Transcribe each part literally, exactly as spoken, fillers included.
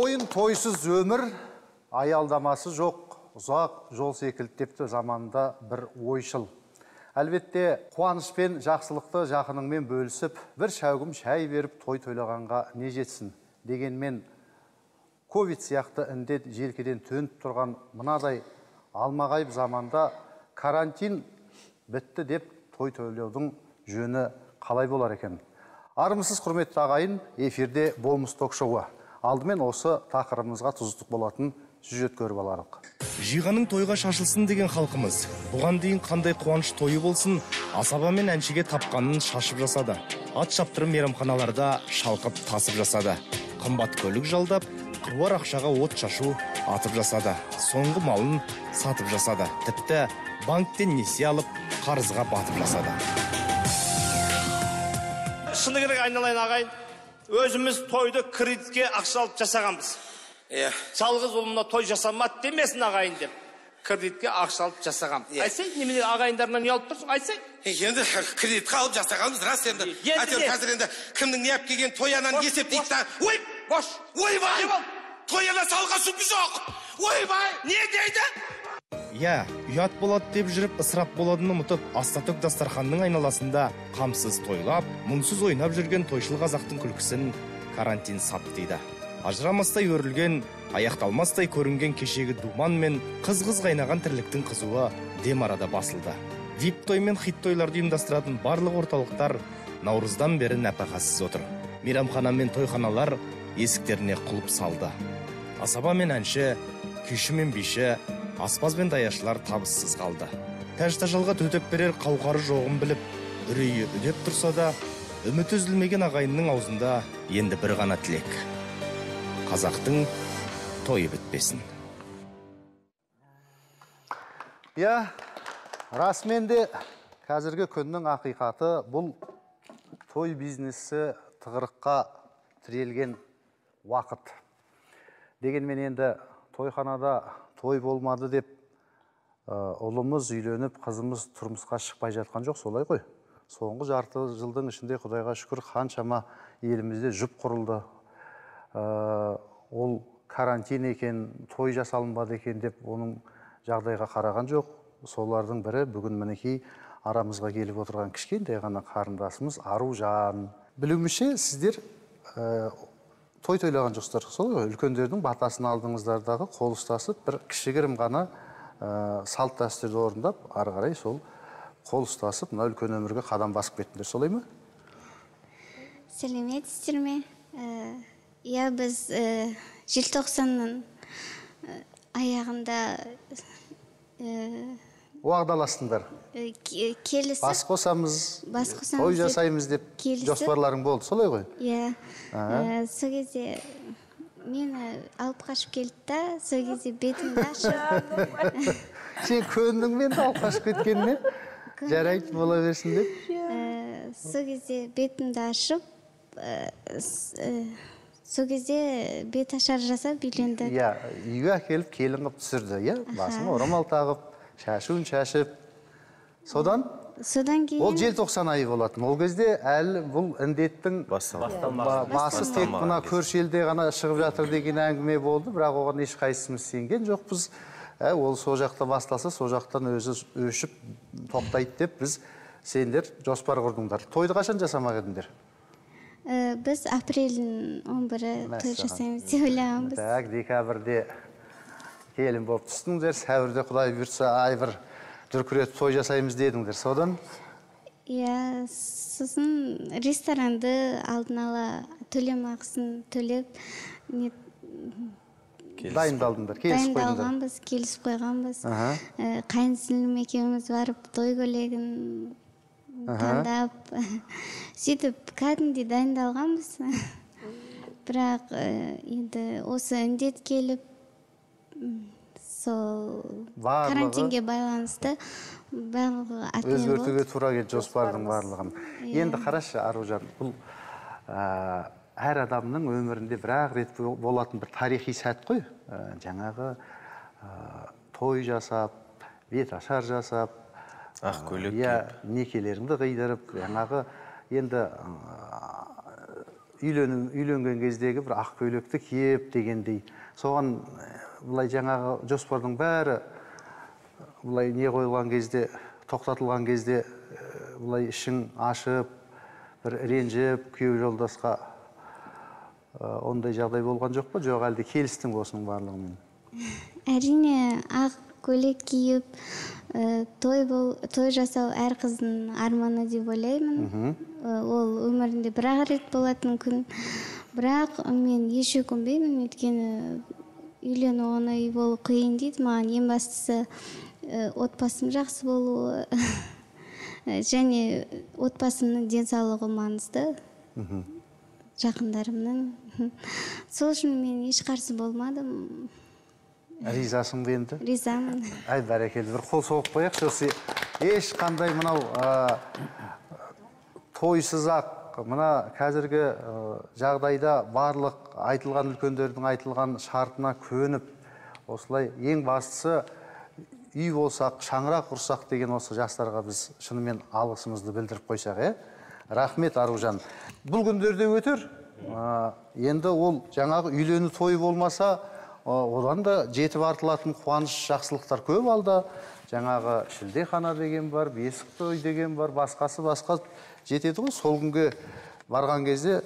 Ойын тойсыз өмір, аялдамасы жоқ, ұзақ жол секілді депті заманында бір ойшыл. Әлбетте, қуаныш пен жақсылықты жақыныңмен бөлісіп, бір шәугім шәй беріп той тойлағанға не жетсін. Дегенмен, ковид сияқты індет желкеден төніп тұрған мынадай алмағайып заманда карантин бітті деп той тойлаудың жөні қалай болар екен? Армысыз құрметті ағайын, эфирде болмыс ток-шоуы. Алдымен осы тақырыбымызға тұздық болатын сюжет көріп аларық. Жиғаның тойға шашылсын деген халқымыз. Бұған дейін қандай қуаныш тойы болсын, асаба мен әншіге тапқанын шашып жасады. Ат шаптырым мейрамханаларда шалқып тасып жасады. Қымбат көлік жалдап, қыруар ақшаға от шашу атып жасады. Соңғы малын сатып жасады. Тіпті банктен несие алып, қарызға батып жасады. Шыны керек айналайын ағайын, өзіміз тойды кредитке ақша алып жасағанбыз. Жалғыз ұлымна той жасамады демесін ағайын деп, кредитке ақша алып жасағам. Айсай, немене ағайындарынан ұялып тұрсың, айсай? Енді кредитке алып жасағанбыз, рас енді. Әтер қазір енді кімнің не әп келген тоянан есептейді да. Ой, бош, ойбай, тояна салға сүпі жоқ. Ойбай, не дейді? Я, ұят болады деп жүріп, ысырап боладыны ұмытып, астатөк дастарханның айналасында қамсыз тойлап, мұңсыз ойнап жүрген тойшыл қазақтың күлкісін карантин сап дейді. Ажырамастай өрілген, аяқталмастай көрінген кешегі думан мен қыз-қыз қайнаған тірліктің қызуы дем арада басылды. Вип той мен хит тойларды ұйымдастыратын барлық орталықтар наурыздан бері нәпақасыз отыр. Мейрамхана мен тойханалар есіктеріне құлып салды. Асаба мен әнші, күйші мен биші, аспаз бен даяшылар табыссыз қалды. Тәж-тажалға төтеп берер қауқары жоғын біліп, үрейі үдеп тұрса да, үміт үзілмеген ағайынның аузында енді бір ғана тілек. Қазақтың тойы бітпесін. Я, расымен де қазіргі күннің ақиқаты бұл той бизнесі тығырыққа тірелген уақыт. Дегенмен енді тойханада той болмады деп ұлымыз үйленіп, қызымыз тұрмысқа шықпай жатқан жоқ, солай ғой. Соңғы жарты жылдың ішінде Құдайға шүкір қаншама елімізде жұп құрылды. Ол карантин екен, той жасалынбады екен деп оның жағдайға қараған жоқ. Солардың бірі бүгін мінекей арамызға келіп отырған кішкентай ғана қарындасымыз Аружан. Білуімше, сіздер той тойлаған жоқсыздар, солай ғой, үлкендердің батасын алдыңыздардағы қол ұстасып, бір кішігірім ғана салт дәстүрді орындап, ары қарай сол қол ұстасып, мына үлкен өмірге қадам басып кеттіңдер, солай ма? Сәлеметсіздер ме? Я, біз желтоқсанның аяғында уағдаластыңдар. Келісіп, бас қосамыз, той жасаймыз деп жоспарларың болды, солай ғой? Иә, сол кезде мені алып қашып келді да, сол кезде бетімді ашып. Сен көндің мен алып қашып кеткеніне? Жарайды, бола берсін деп? Сол кезде бетімді ашып, сол кезде бет ашар жасап үйленді. Иә, үйге әкеліп келін қып түсірді, иә? Басын орамал тағып, шашуын шашып. Содан? Содан кейін... Ол желтоқсан айы болатын. Ол кезде әлі бұл індеттің басы тек мына көрші елде ғана шығып жатыр деген әңгіме болды, бірақ оған ешқайсымыз сенген жоқпыз. Ол со жақта басталса, со жақтан өзі өшіп тоқтайды деп біз сендер жоспар құрдыңдар. Тойды қашан жасамақ едіңдер? Біз апрельдің он бірі той жасаймыз деп ойлағанбыз. Так, декабрьде келін болып түстіңдер, сәуірде Құдай бұйыртса ай бір дүркіретіп той жасаймыз дедіңдер, содан? Иә, сосын ресторанды алдын ала төлем ақысын төлеп, дайындалдыңдар, келісіп қойдыңдар. Дайындалғанбыз, келісіп қойғанбыз. Қайынсіңлім екеуміз барып, той көйлегін таңдап, сөйтіп кәдімгідей дайындалғанбыз. Бірақ енді осы індет келіп, сол карантинге байланысты барлығы атмен болды. Өзгертуге тура келді жоспардың барлығын. Енді қарашы, Аружан, бұл әр адамның өмірінде бір-ақ рет болатын бір тарихи сәт қой. Жаңағы той жасап, бет ашар жасап, ақ көйлек киіп, некелеріңді қидырып, жаңағы енді үйленген кездегі бір ақ көйлекті киіп дегендей. Соған бұлай жаңағы жоспардың бәрі бұлай не қойылған кезде, тоқтатылған кезде бұлай ішің ашып, бір ренжіп, күйеу жолдасқа ондай жағдай болған жоқ па? Жоқ, әлде келістің осының барлығымен? Әрине, ақ көйлек киіп, той жасау әр қыздың арманы деп ойлаймын. Ол өмірінде бір-ақ рет болатын күн. Бірақ мен еш өкінбеймін, өйткені үйлену оңай болу қиын дейді. Маған ең бастысы отбасым жақсы болуы және отбасымның денсаулығы маңызды. Жақындарымның. Сол үшін мен еш қарсы болмадым. Ризасың ба енді? Ризамын. Ай, бәрекелді, бір қол соғып қояқ. Ешқандай мынау тойсыз-ақ, мына қазіргі жағдайда барлық айтылған үлкендердің айтылған шартына көніп, осылай ең бастысы үй болсақ, шаңырақ құрсақ деген осы жастарға біз шынымен алғысымызды білдіріп қойсақ, е? Рахмет, Аружан. Бұл күндерде өтер. Енді ол жаңағы үйлену тойы болмаса, одан да жетіп артылатын қуаныш жақсылықтар көп алда. Жаңағы шілдехана деген бар, бесік той деген бар, басқасы басқа жетеді ғой. Сол күнге барған кезде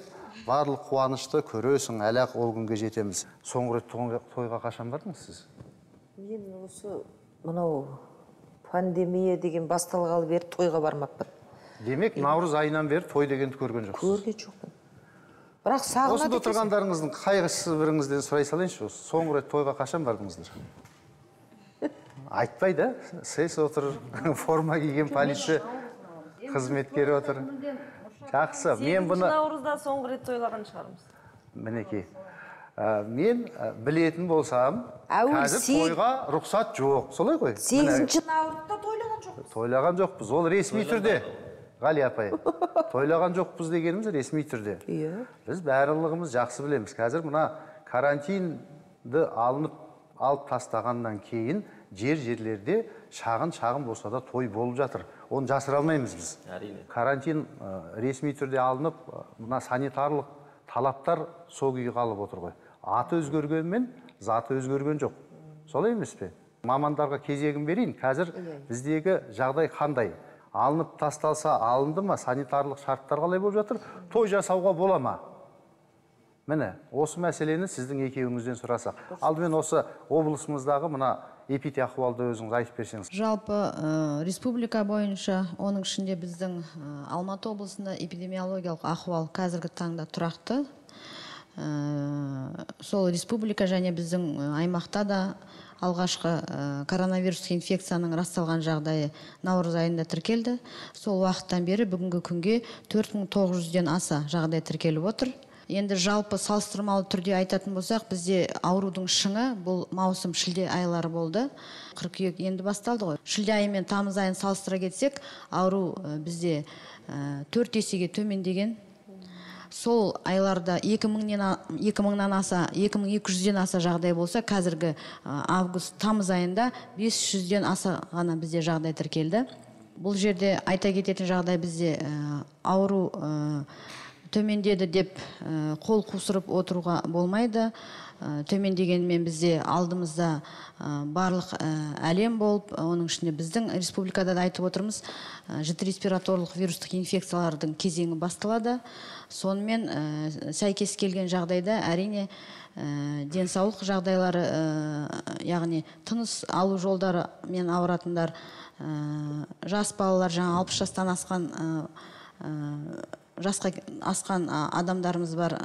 барлық қуанышты көресің, әлі-ақ ол күнге жетеміз. Соңғы рет тойға қашан бардыңыз сіз? Мен осы мынау пандемия деген басталғалы бері тойға бармаппын. Демек, наурыз айынан бері той дегенді көрген жоқсыз? Көрген жоқпын. Бірақ сағынады. Осында отырғандарыңыздың қайғысы біріңізден сұрай салайыншы. Соңғы рет тойға қашан бардыңыздар? Айтпайды, сес отыр, форма киген полиция қызметкері отыр. Жақсы, мен бұны... наурызда соңғы рет тойлаған шығармыз. Мінекей. Мен білетін болсам, қазір тойға рұқсат жоқ. Солай ғой? сегізінші наурызда тойлаған жоқпыз. Тойлаған жоқпыз. Ол ресми түрде. Ғали апай, тойлаған жоқпыз дегеніміз ресми түрде. Біз барлығымыз жақсы білеміз. Қазір мұна карантинді алынып, алып тастағаннан кейін жер-жерлерде шағын-шағын болса да той болып жатыр. Оны жасыра алмаймыз біз. Карантин ресми түрде алынып, мұна санитарлық талаптар сол күйі қалып отыр ғой. Аты өзгергенмен, заты өзгерген жоқ. Солай емес пе? Мамандарға кезегін берейін. Қазір біздегі жағдай қандай? Алынып тасталса алынды ма? Санитарлық шарттар қалай болып жатыр? Той жасауға бола ма? Міне, осы мәселені сіздің екеуіңізден сұрасақ. Алдымен осы облысымыздағы мына эпидахуалды өзіңіз айтып берсеңіз. Жалпы республика бойынша, оның ішінде біздің Алматы облысында эпидемиологиялық ахуал қазіргі таңда тұрақты. Сол республика және біздің аймақта да алғашқы коронавирус инфекцияның расталған жағдайы наурыз айында тіркелді. Сол уақыттан бері бүгінгі күнге төрт мың тоғыз жүзден аса жағдай тіркеліп отыр. Енді жалпы салыстырмалы түрде айтатын болсақ, бізде аурудың шыңы бұл маусым шілде айлары болды. Қыркүйек енді басталды ғой. Шілде айы мен тамыз айын салыстыра кетсек, ауру бізде төрт есеге төмендеген. Сол айларда екі мыңнан аса, екі мың екі жүзден аса жағдай болса, қазіргі август, тамыз айында бес жүзден аса ғана бізде жағдай тіркелді. Бұл жерде айта кететін жағдай бізде ауру төмендеді деп қол қусырып отыруға болмайды. Төмендегенмен бізде алдымызда барлық әлем болып, оның ішінде біздің республикада да айтып отырмыз, жіті респираторлық вирустық инфекциялардың кезеңі басталады. Сонымен сәйкес келген жағдайда әрине денсаулық жағдайлары, яғни тыныс алу жолдары мен ауыратындар, жас балалар, жаңа алпыс жастан асқан жасқа асқан адамдарымыз бар,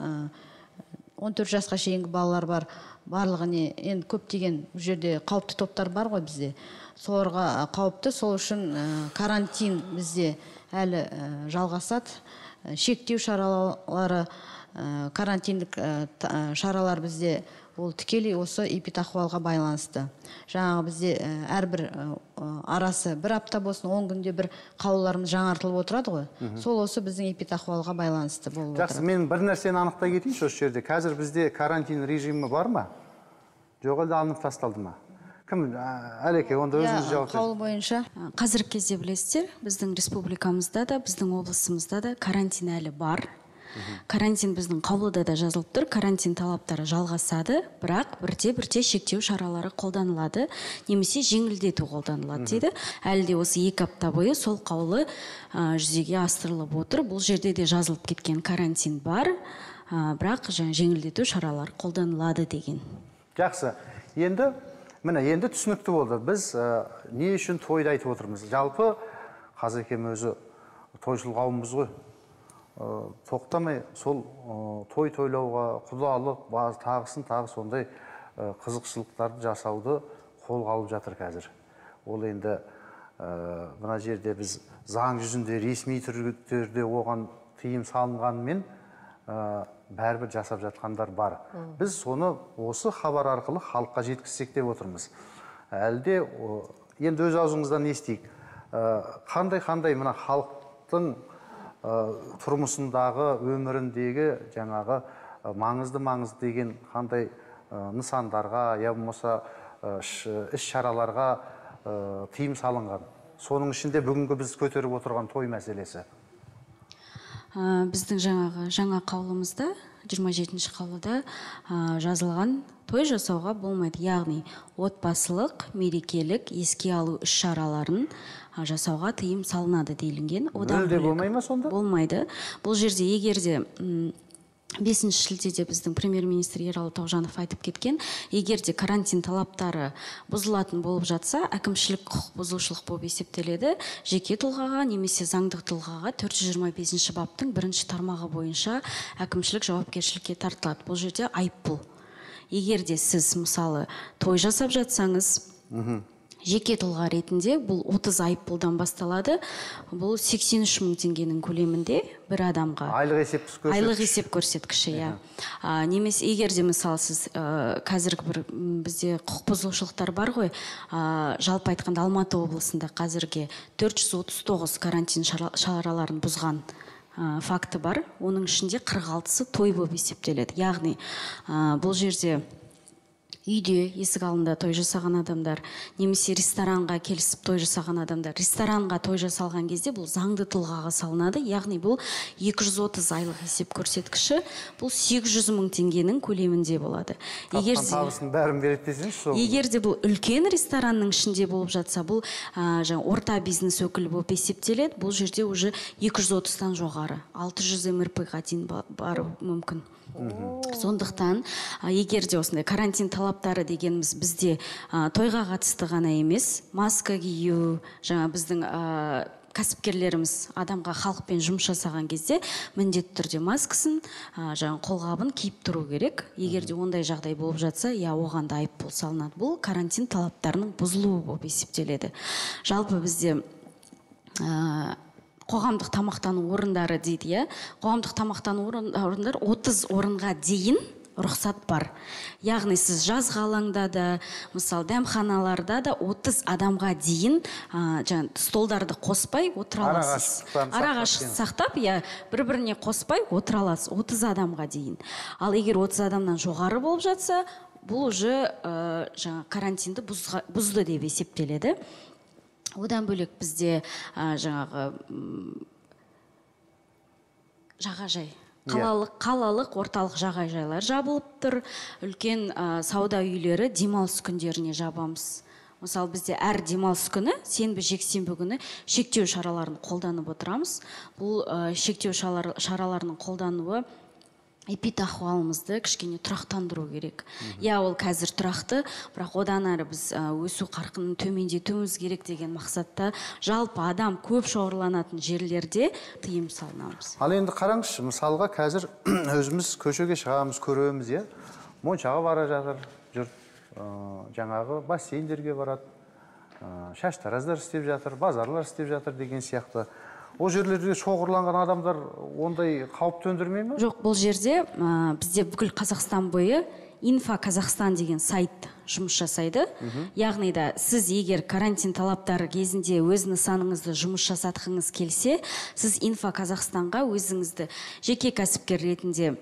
он төрт жасқа шейінгі балалар бар. Барлығыне енді көптеген жерде қауіпті топтар бар ғой бізде. Соларға қауіпті, сол үшін карантин бізде әлі жалғасады. Шектеу шаралары, карантиндік шаралар бізде ол тікелей осы эпидахуалға байланысты. Жаңағы бізде әрбір арасы бір апта болсын, он күнде бір қаулыларымыз жаңартылып отырады ғой. Сол осы біздің эпидахуалға байланысты болып отырады. Жақсы, мен бір нәрсені анықтай кетейінші осы жерде. Қазір бізде карантин режимі бар ма? Жоқ, әлде алынып тасталды ма? Кім? Әлеке, онда өзіңіз жауап беріңіз. Қаулы бойынша. Қазіргі кезде білесіздер, біздің республикамызда да, біздің облысымызда да карантин әлі бар. Карантин біздің қаулыда да жазылып тұр. Карантин талаптары жалғасады, бірақ бірте-бірте шектеу шаралары қолданылады, немесе жеңілдету қолданылады дейді. Әлі де осы екі апта бойы сол қаулы жүзеге асырылып отыр. Бұл жерде де жазылып кеткен карантин бар, бірақ жеңілдету шаралары қолданылады деген. Жақсы. Енді міне, енді түсінікті болды. Біз не үшін тойды айтып отырмыз? Жалпы Қазекем өзі тойшыл қауымымыз ғой. Тоқтамай сол той тойлауға, құдалық, тағысын тағы сондай қызықшылықтарды жасауды қолға алып жатыр қазір. Ол енді мына жерде біз заң жүзінде ресми түрде оған тыйым салынғанымен бәрібір жасап жатқандар бар. Біз соны осы хабар арқылы халыққа жеткізсек деп отырмыз. Әлде енді өз аузыңыздан естейік. Қандай-қандай мына халықтың тұрмысындағы, өміріндегі жаңағы маңызды-маңызды деген қандай нысандарға, я болмаса іс-шараларға тыйым салынған. Соның ішінде бүгінгі біз көтеріп отырған той мәселесі. Біздің жаңағы жаңа қаулымызда, жиырма жетінші қаулыда жазылған той жасауға болмайды. Яғни отбасылық, мерекелік, еске алу іс-шараларын жасауға тыйым салынады делінген. Мүлде болмай ма сонда? Болмайды. Бұл жерде егерде бесінші шілдеде біздің премьер-министр Ералы Тоғжанов айтып кеткен, егерде карантин талаптары бұзылатын болып жатса, әкімшілік құқық бұзушылық болып есептеледі, жеке тұлғаға немесе заңдық тұлғаға төрт жүз жиырма бесінші баптың бірінші тармағы бойынша әкімшілік жауапкершілікке тартылады. Бұл жерде айыппұл. Егерде сіз мысалы той жасап жатсаңыз, жеке тұлға ретінде бұл отыз айыппұлдан басталады. Бұл сексен үш мың теңгенің көлемінде бір адамға. Айлық есеп көрсеткіші. Айлық есеп көрсеткіші, иә. Немесе егерде мысалы сіз қазіргі бір бізде құқық бұзушылықтар бар ғой, жалпы айтқанда Алматы облысында қазірге төрт жүз отыз тоғыз карантин шараларын бұзған факті бар. Оның ішінде қырық алтысы той болып есептеледі. Яғни бұл жерде үйде есік алдында той жасаған адамдар, немесе ресторанға келісіп той жасаған адамдар, ресторанға той жасалған кезде бұл заңды тұлғаға салынады. Яғни бұл екі жүз отыз айлық есеп көрсеткіші, бұл сегіз жүз мың теңгенің көлемінде болады. Тапқан табысын бәрін береді десеңіз сол. Егер де бұл үлкен ресторанның ішінде болып жатса, бұл жаңа орта бизнес өкілі болып есептеледі. Бұл жерде уже екі жүз отыздан жоғары, алты жүз эм эр пэ-ға дейін бару мүмкін. Сондықтан, егер де осындай карантин талаптары дегеніміз бізде тойға қатысты ғана емес, маска кию, жаңа біздің кәсіпкерлеріміз адамға халықпен жұмыс жасаған кезде міндетті түрде маскасын, жаңа қолғабын киіп тұру керек. Егер де ондай жағдай болып жатса, я оған да айыппұл салынады. Бұл карантин талаптарының бұзылуы болып есептеледі. Жалпы бізде қоғамдық тамақтану орындары дейді, иә. Қоғамдық тамақтану орындар отыз орынға дейін рұқсат бар. Яғни сіз жазғы алаңда да, мысалы дәмханаларда да отыз адамға дейін столдарды қоспай отыра аласыз. Арақашықтықты сақтап, бір-біріне қоспай отыра аласыз отыз адамға дейін. Ал егер отыз адамнан жоғары болып жатса, бұл уже карантинді бұзды деп есептеледі. Одан бөлек бізде жаңағы жағажай, қалалық орталық жағажайлар жабылып тұр. Үлкен сауда үйлері демалыс күндеріне жабамыз. Мысалы бізде әр демалыс күні, сенбі жексенбі күні шектеу шараларын қолданып отырамыз. Бұл шектеу шараларының қолдануы эпидахуалымызды кішкене тұрақтандыру керек. Я ол қазір тұрақты, бірақ одан әрі біз өсу қарқынын төмендетуіміз керек деген мақсатта жалпы адам көп шоғырланатын жерлерде тыйым салынамыз. Ал енді қараңызшы, мысалға қазір өзіміз көшеге шығамыз, көреміз, е, Моншаға бара жатыр, жұрт жаңағы бассейндерге барады, шаштараздар істеп жатыр, базарлар істеп жатыр деген сияқты. Ол жерлерде шоғырланған адамдар ондай қауіп төндірмей ме? Жоқ, бұл жерде бізде бүкіл Қазақстан бойы Инфо Қазақстан деген сайт жұмыс жасайды. Яғни да сіз егер карантин талаптары кезінде өз нысаныңызды жұмыс жасатқыңыз келсе, сіз Инфо Қазақстанға өзіңізді жеке кәсіпкер ретінде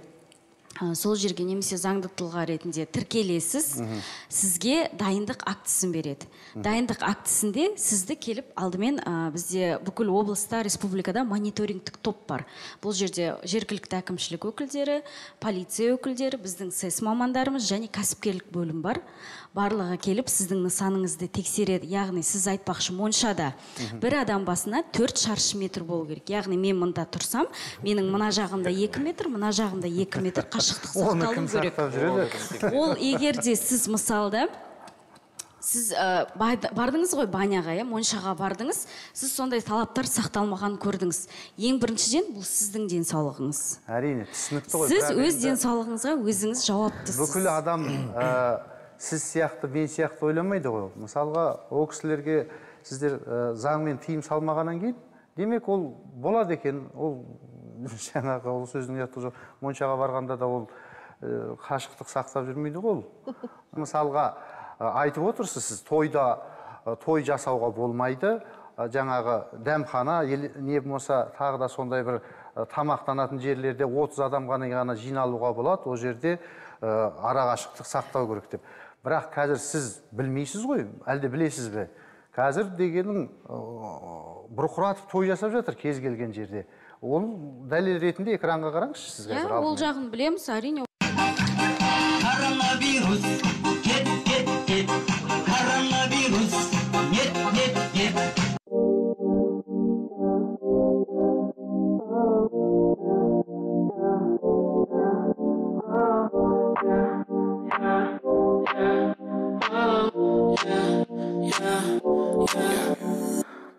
сол жерге немесе заңды тұлға ретінде тіркелесіз, сізге дайындық актісін береді. Дайындық актісінде сізді келіп алдымен бізде бүкіл облыста, республикада мониторингтік топ бар. Бұл жерде жергілікті әкімшілік өкілдері, полиция өкілдері, біздің сэс мамандарымыз және кәсіпкерлік бөлім бар. Барлығы келіп сіздің нысаныңызды тексереді. Яғни сіз айтпақшы моншада бір адам басына төрт шаршы метр болу керек. Яғни мен мында тұрсам, менің мына жағымда екі метр, мына жағымда екі метр қашықтық сақталу керек. Ол егерде сіз мысалда сіз бардыңыз ғой баняға, моншаға бардыңыз, сіз сондай талаптар сақталмаған көрдіңіз. Ең біріншіден бұл сіздің денсаулығыңыз. Әрине, түсінікті ғой. Сіз өз денсаулығыңызға өзіңіз жауаптысыз. Бүкіл адам сіз сияқты, мен сияқты ойламайды ғой. Мысалға, ол кісілерге сіздер заңмен тыйым салмағаннан кейін, демек ол болады екен. Ол жаңағы ол сөздің ұяты жоқ. Моншаға барғанда да ол қашықтық сақтап жүрмейді ғой. Мысалға, айтып отырсыз, сіз тойда той жасауға болмайды. Жаңағы дәмхана, не болмаса тағы да сондай бір тамақтанатын жерлерде отыз адам ғана жиналуға болады. Ол жерде арақашықтық сақтау керек деп. Бірақ қазір сіз білмейсіз ғой, әлде білесіз бе? Қазір дегенің бұрқыратып той жасап жатыр кез келген жерде. Ол дәлел ретінде экранға қараңызшы сіз қазір. Ол жағын білеміз, әрине. Коронавирус, кет, кет, кет. Коронавирус, нет, нет, нет.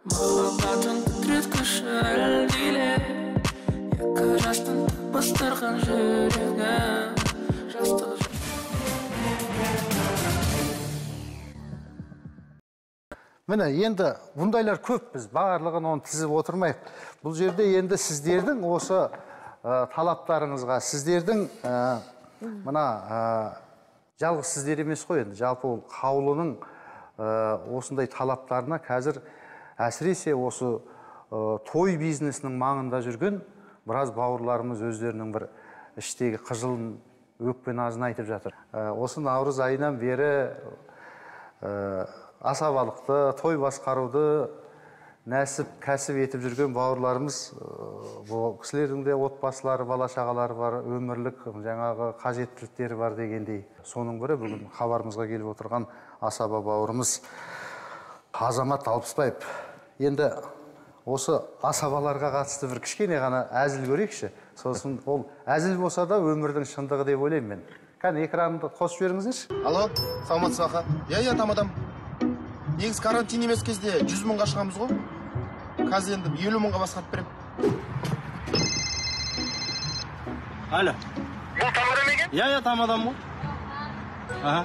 Махаббатың тіркеші әлдейле, екі жастың бастырған жүрегі жастық. Міне, енді бұндайлар көп, біз барлығын оны тізіп отырмайық. Бұл жерде енді сіздердің осы талаптарыңызға, сіздердің мына жалғыз сіздер емес қой, енді жалпы ол қаулының осындай талаптарына қазір әсіресе осы той бизнесінің маңында жүрген біраз бауырларымыз өздерінің бір іштегі қыжылын өкпе назын айтып жатыр. Осы наурыз айынан бері асабалықты, той басқаруды нәсіп, кәсіп етіп жүрген бауырларымыз, бұл кісілердің де отбасылары, бала-шағалары бар, өмірлік жаңағы қажеттіліктері бар дегендей. Соның бірі бүгін хабарымызға келіп отырған асаба бауырымыз Азамат Алпысбаев. Енді осы асабаларға қатысты бір кішкене ғана әзіл көрейікші. Сосын ол әзіл болса да өмірдің шындығы деп ойлаймын мен. Кәне экранды қосып жіберіңіздерші. Алло, саламатсыз аға. Я, я, тамадам. Негіз карантин емес кезде жүз мыңға шығамыз ғой. Қазір енді елу мыңға басқарып берем. Алло. Бұл тамадам екен? Я, я, тамадам ғой. Аха.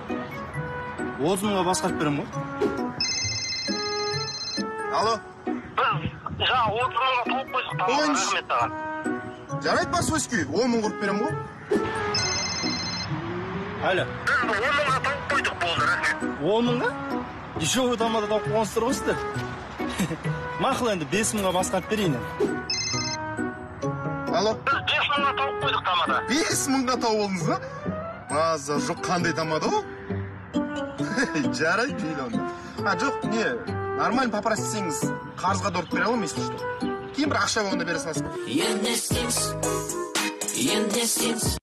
отыз мыңға басқарып берем ғой. Алло. Біз жаңа отыз мыңға толып қойдық тамадам, рахмет аға. Жарайды бар сөзкі, он мың құрып берем ғой. Алло. Біз он мыңға толып қойдық болды, рахмет. он мыңға? Дешевый тамада тауып қоңызтыр ғой сіздер. Мақыл енді бес мыңға басқарып берейін. Алло. Біз бес мыңға тауып қойдық тамада. бес мыңға тауып олдыңыз ба? Маза жоқ, қандай тамада ол? Жарайды мейлі онда. А жоқ, не, нормально попросисеңіз қарызға дұрып бере аламын, если что. Кейін бір ақша болғанда бере саласың. Енді істейміз, енді істейміз.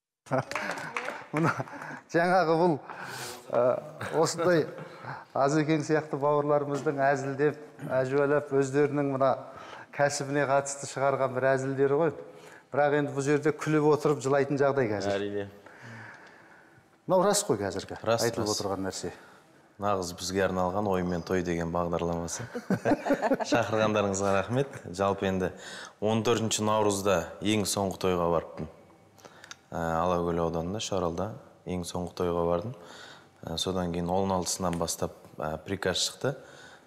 Мұна жаңағы бұл осындай Азекең сияқты бауырларымыздың әзілдеп, әжуалап, өздерінің мұна кәсібіне қатысты шығарған бір әзілдері ғой. Бірақ енді бұл жерде күліп отырып жылайтын жағдай қазір. Әрине. Мынау рас қой қазіргі Рас, айтылып рас. отырған нәрсе. Нағыз бізге арналған ой мен той деген бағдарламасы. Шақырғандарыңызға рахмет. Жалпы енді он төртінші наурызда ең соңғы тойға барыппын. Алакөл ауданында, Шаралда ең соңғы тойға бардым. Содан кейін он алтысынан бастап приказ шықты.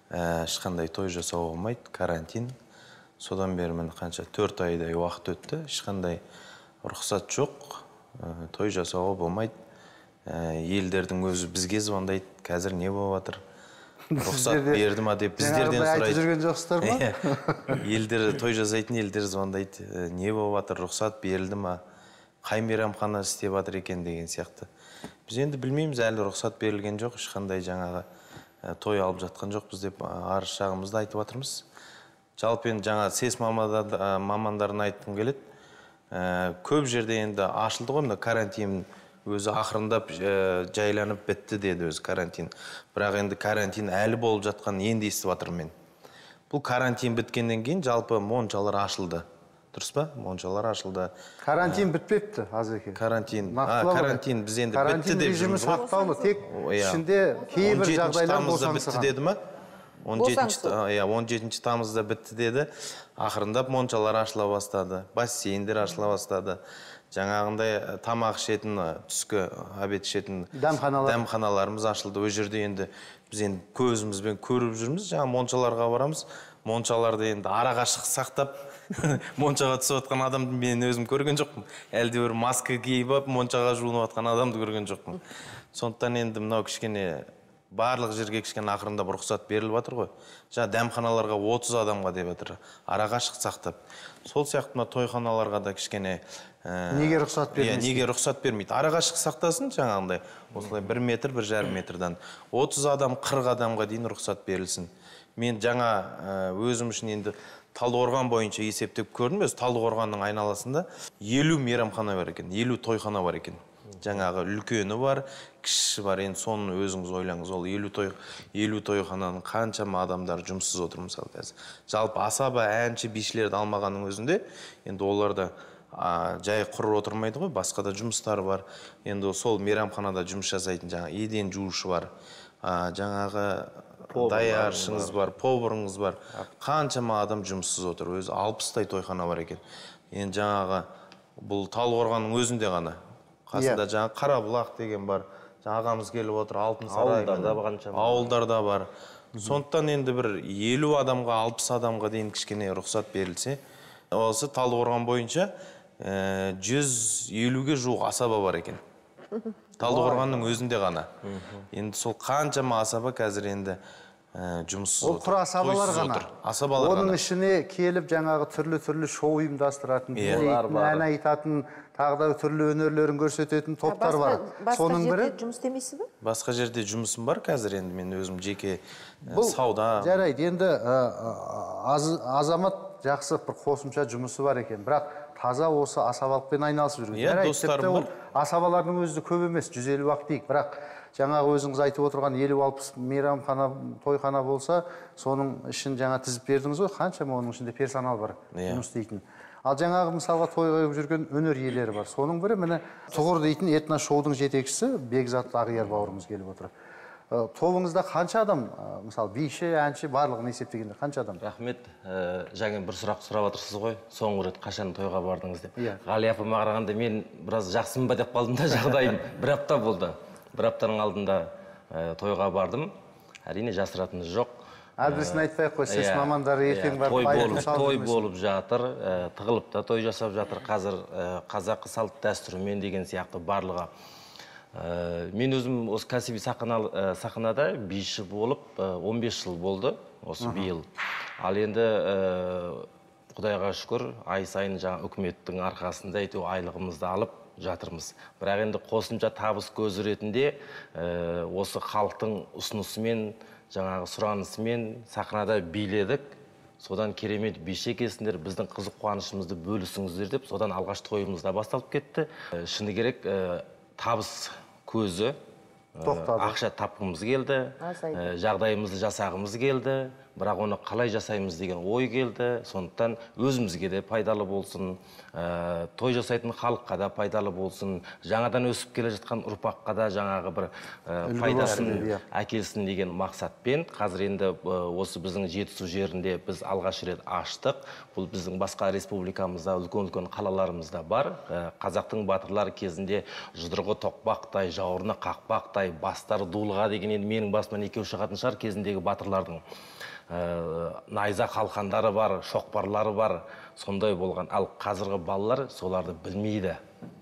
Ешқандай той жасауға болмайды, карантин. Содан бері мен қанша төрт айдай уақыт өтті. Ешқандай рұқсат жоқ, той жасауға болмайды. Елдердің өзі бізге звондайды, қазір не болып жатыр? Рұқсат берді ма деп біздерден сұрайды. Айтып жүрген жоқсыздар ма? Елдер, той жасайтын елдер звондайды, не болып жатыр, рұқсат берілді ма? қай мейрамхана істеп жатыр екен деген сияқты. Біз енді білмейміз, әлі рұқсат берілген жоқ, ешқандай жаңағы той алып жатқан жоқпыз деп арыз шағымызды айтып жатырмыз. Жалпы енді жаңа сес мамандарын айтқым келеді. Көп жерде енді ашылды ғой, карантин өзі ақырындап жайланып бітті деді өзі карантин. Бірақ енді карантин әлі болып жатқан енді естіп жатырмын мен. Бұл карантин біткеннен кейін жалпы моншалар ашылды. Дұрыс па? Моншалар ашылды. Карантин бітпепті, Азеке. Карантин. Карантин біз енді бітті деп режимі сақтаулы, тек ішінде кейбір жағдайлар босаңсыған. Деді ма? он жетінші тамызда бітті деді. Ақырындап моншалар ашыла бастады. Бассейндер ашыла бастады. Жаңағындай тамақ ішетін, түскі обед ішетін дәмханаларымыз ашылды. Ол жерде енді біз енді көзімізбен көріп жүрміз. Жаңа моншаларға барамыз. Моншаларды енді арақашықтық сақтап моншаға түсіп отқан адамды мен өзім көрген жоқпын. Әлде бір маска киіп алып моншаға жуынып отқан адамды көрген жоқпын. Сондықтан енді мынау кішкене барлық жерге кішкене ақырындап рұқсат беріліп жатыр ғой. Жаңа дәмханаларға отыз адамға деп жатыр. Арақашықтық сақтап. Сол сияқты мына тойханаларға да кішкене неге рұқсат бермейді? Неге рұқсат бермейді? Арақашықтық сақтасын жаңағындай. Осылай бір метр, бір жарым метрдан отыз адам, қырық адамға дейін рұқсат берілсін. Мен жаңа өзім үшін енді Талдықорған бойынша есептеп көрдім. Өз Талдықорғанның айналасында елу мейрамхана бар екен, елу тойхана бар екен. Жаңағы үлкені бар, кішісі бар. Енді соны өзіңіз ойлаңыз. Ол елу той, елу тойхананың қаншама адамдар жұмыссыз отыр мысалы қазір. Жалпы асаба, әнші, бишілерді алмағанның өзінде, енді оларда жай құр отырмайды ғой, басқа да жұмыстары бар. енді сол мейрамханада жұмыс жасайтын жаңа еден жуушы бар, жаңағы даяршыңыз бар, поварыңыз бар, қаншама адам жұмыссыз отыр. Өзі алпыстай тойхана бар екен. Енді жаңағы бұл Талдықорғанның өзінде ғана. Қасында жаңа Қарабұлақ деген бар. Ағамыз келіп отыр, Алтын сарай, ауылдарда бар. Сондықтан енді бір елу адамға, алпыс адамға дейін кішкене рұқсат берілсе, осы Талдықорған бойынша жүз елуге жуық асаба бар екен. Талдықорғанның өзінде ғана. Енді сол қаншама асаба қазір енді жұмыссыз отыр. Ол құр асабалар ғана. Асабалар ғана. Оның ішіне келіп жаңағы түрлі-түрлі шоу ұйымдастыратын, ән айтатын, тағы да түрлі өнерлерін көрсететін топтар бар. Соның бірі жұмыс істемейсіз бе? Басқа жерде жұмысым бар қазір, енді мен өзім жеке сауда. Жарайды, енді азамат жақсы бір қосымша жұмысы бар екен, бірақ таза осы асабалықпен айналысып жүрген. Жарайды, тіпті ол асабалардың өзі көп емес, жүз елу ақ дейік, бірақ жаңағы өзіңіз айтып отырған елу алпыс мейрамхана, тойхана болса, соның ішін жаңа тізіп бердіңіз ғой, қаншама оның ішінде персонал бар жұмыс істейтін. Ал жаңағы мысалға той қойып жүрген өнер иелері бар. Соның бірі міне Тұғыр дейтін этно шоудың жетекшісі Бекзат Ағияр бауырымыз келіп отыр. Тобыңызда қанша адам, мысалы биші, әнші, барлығын есептегенде қанша адам? Рахмет, жаңа бір сұрақ сұрап отырсыз ғой, соңғы рет қашан тойға бардыңыз деп. Ғали апама қарағанда мен біраз жақсымын ба деп қалдым да, жағдайым бір апта болды. Бір аптаның алдында тойға бардым. Әрине жасыратыны жоқ. Әдісін айтпай қой, сес мамандары ертең барып айырым салып той болып жатыр, тығылып та той жасап жатыр. Қазір қазақы салт дәстүрімен деген сияқты барлығы. Мен өзім осы кәсіби сахнада биші болып он бес жыл болды, осы биыл. Ал енді Құдайға шүкір, ай сайын жаңа үкіметтің арқасында әйтеуір айлығымызды алып жатырмыз. Бірақ енді қосымша табыс көзі ретінде осы халықтың ұсынысымен, жаңағы сұранысымен сахнада биледік. Содан керемет биші екенсіңдер, біздің қызық қуанышымызды бөлісіңіздер деп, содан алғаш тойымызда басталып кетті. Шыны керек, табыс көзі, ақша тапқымыз келді, жағдайымызды жасағымыз келді, бірақ оны қалай жасаймыз деген ой келді. Сондықтан өзімізге де пайдалы болсын, той жасайтын халыққа да пайдалы болсын, жаңадан өсіп келе жатқан ұрпаққа да жаңағы бір пайдасын әкелсін деген мақсатпен қазір енді осы біздің Жетісу жерінде біз алғаш рет аштық. Бұл біздің басқа республикамызда, үлкен-үлкен қалаларымызда бар. Қазақтың батырлары кезінде жұдырығы тоқпақтай, жауырыны қақпақтай, бастары дулыға деген енді менің басымнан екеу шығатын шығар кезіндегі батырлардың. Найза қалқандары бар, шоқпарлары бар, сондай болған. Ал қазіргі балалар соларды білмейді.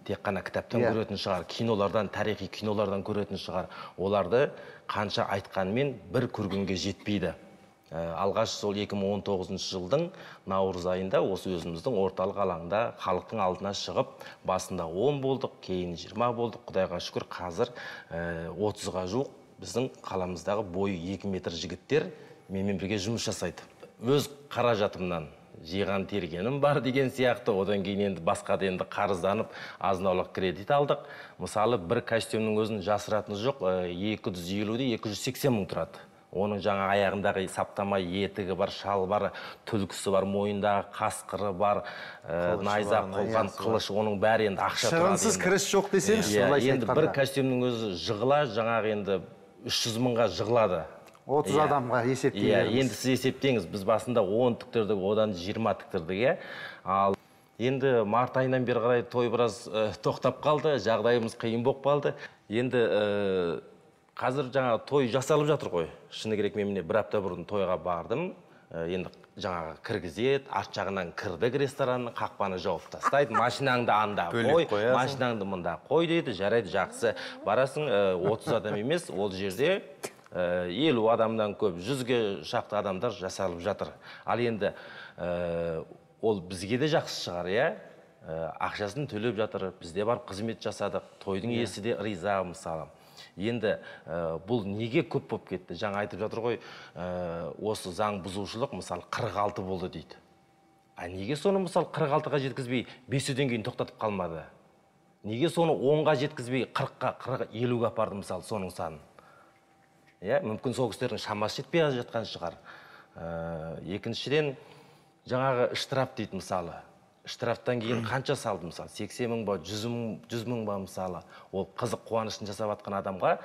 Тек қана кітаптан көретін шығар, кинолардан, тарихи кинолардан көретін шығар. Оларды қанша айтқанмен бір көргенге жетпейді. алғаш сол екі мың он тоғызыншы жылдың наурыз айында осы өзіміздің орталық алаңда халықтың алдына шығып, басында он болдық, кейін жиырма болдық. Құдайға шүкір, қазір отызға жуық біздің қаламыздағы бойы екі метр жігіттер менімен бірге жұмыс жасайды. Өз қаражатымнан жиған тергенім бар деген сияқты, одан кейін енді басқа да енді қарызданып азын-аулақ кредит алдық. Мысалы, бір костюмнің өзін жасыратыны жоқ, екі жүз елуден екі жүз сексен мың тұрады. Оның жаңа аяғындағы саптама етігі бар, шал бар, түлкісі бар, мойындағы қасқыры бар, найзақ, қолған, қылыш, оның бәрі енді ақша тұрады. Шығынсыз кіріс жоқ десеңіз, солай енді бір костюмнің өзі жығыла, жаңағы енді үш жүз мыңға жығылады. отыз адамға есептейміз. Енді сіз есептеңіз, біз басында он тіктірдік, одан жиырма тіктірдік. Ал енді март айынан бері қарай той біраз тоқтап қалды, жағдайымыз қиын болып қалды. Енді қазір жаңа той жасалып жатыр ғой. Шыны керек, мен міне бір апта бұрын тойға бардым. Енді жаңағы кіргізет, арт жағынан кірдік ресторанның, қақпаны жауып тастайды. Машинаңды анда қой, машинаңды мұнда қой дейді, жарайды, жақсы. Барасың, отыз адам емес, ол жерде елу адамдан көп, жүзге шақты адамдар жасалып жатыр. Ал енді ол бізге де жақсы шығар, ақшасын төлеп жатыр, бізде бар қызмет жасадық, тойдың иесі де риза мысалы. Енді бұл неге көп болып кетті? Жаңа айтып жатыр ғой, осы заң бұзушылық мысалы қырық алты болды дейді. А неге соны мысалы қырық алтыға жеткізбей бесуден кейін тоқтатып қалмады? Неге соны онға жеткізбей қырыққа, қырық, елуге апарды мысалы соның санын? Мүмкін сол кісілердің шамасы жетпей жатқан шығар. Екіншіден, жаңағы штраф дейді мысалы. Штрафтан кейін қанша салды мысалы? сексен мың ба, жүз мың ба мысалы? Ол қызық қуанышын жасап атқан адамға,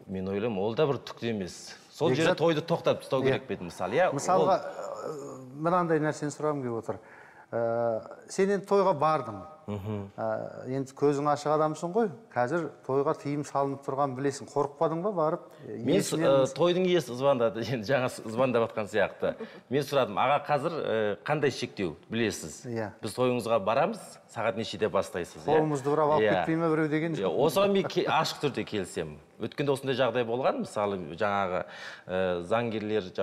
мен ойлаймын, ол да бір түкті емес. Сол жерде тойды тоқтатып тастау керек пе еді мысалы? Мысалға, мынандай нәрсені сұрағым келіп отыр. Сен енді тойға бардың. Енді көзің ашық адамсың ғой. Қазір тойға тыйым салынып тұрған білесің. Қорықпадың ба барып? Мен тойдың иесі звондады, енді жаңа звондап атқан сияқты. Мен сұрадым, аға, қазір қандай шектеу білесіз? Біз тойыңызға барамыз, сағат нешеде бастайсыз? Қолымызды бұрап алып кетпей ме біреу деген? Осыған мен ашық түрде келсем. Өткенде осындай жағдай болған, мысалы, жаңағы заңгерлер,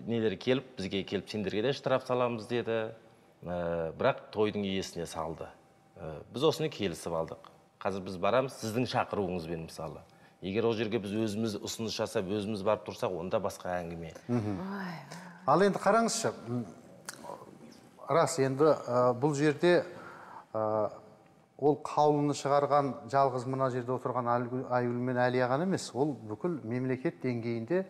нелер келіп, бізге келіп, сендерге де штраф саламыз деді. Бірақ тойдың иесіне салды. Біз осыны келісіп алдық. Қазір біз барамыз сіздің шақыруыңызбен мысалы. Егер ол жерге біз өзіміз ұсыныс жасап, өзіміз барып тұрсақ, онда басқа әңгіме. Ал енді қараңызшы, рас, енді бұл жерде ол қаулыны шығарған жалғыз мына жерде отырған Айгүл мен Әлия ғана емес, ол бүкіл мемлекет деңгейінде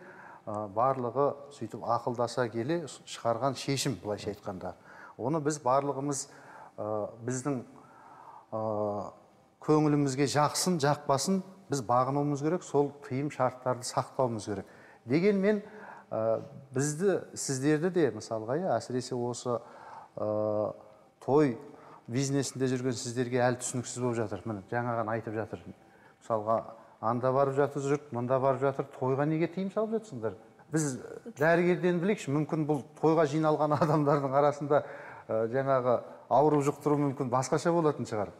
барлығы сөйтіп ақылдаса келе шығарған шешім, былайша айтқанда. Оны біз барлығымыз біздің көңілімізге жақсын, жақпасын біз бағынуымыз керек, сол тыйым шарттарды сақтауымыз керек. Дегенмен бізді, сіздерді де мысалға, әсіресе осы той бизнесінде жүрген сіздерге әлі түсініксіз болып жатыр. Міне жаңаған айтып жатыр. Мысалға, анда барып жатыр жұрт, мұнда барып жатыр, тойға неге тыйым салып жатсыңдар? Біз дәрігерден білейікші, мүмкін бұл тойға жиналған адамдардың арасында жаңағы ауру жұқтыру мүмкін басқаша болатын шығар.